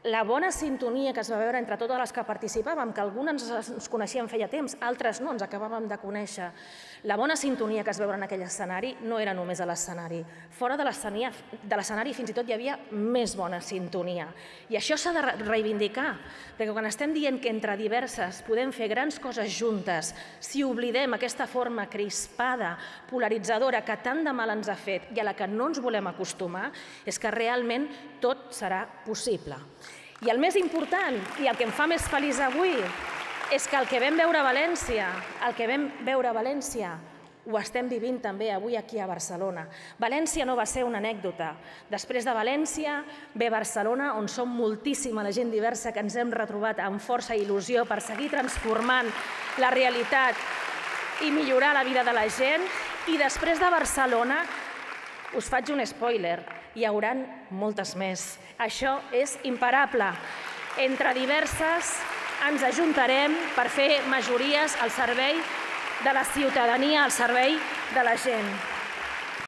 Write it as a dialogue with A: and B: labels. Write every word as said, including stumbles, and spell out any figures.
A: la bona sintonia que es va veure entre totes les que participàvem, que algunes ens coneixíem feia temps, altres no, ens acabàvem de conèixer. La bona sintonia que es va veure en aquell escenari no era només a l'escenari. Fora de l'escenari fins i tot hi havia més bona sintonia. I això s'ha de reivindicar, perquè quan estem dient que entre diverses podem fer grans coses juntes, si oblidem aquesta forma crispada, polaritzadora, que tant de mal ens ha fet i a la que no ens volem acostumar, és que realment tot serà possible. I el més important, i el que em fa més feliç avui, és que el que vam veure a València, el que vam veure a València, ho estem vivint també avui aquí a Barcelona. València no va ser una anècdota. Després de València ve Barcelona, on som moltíssima la gent diversa que ens hem retrobat amb força i il·lusió per seguir transformant la realitat i millorar la vida de la gent. I després de Barcelona, us faig un spoiler, hi haurà moltes més. Això és imparable. Entre diverses ens ajuntarem per fer majories al servei de la ciutadania, al servei de la gent.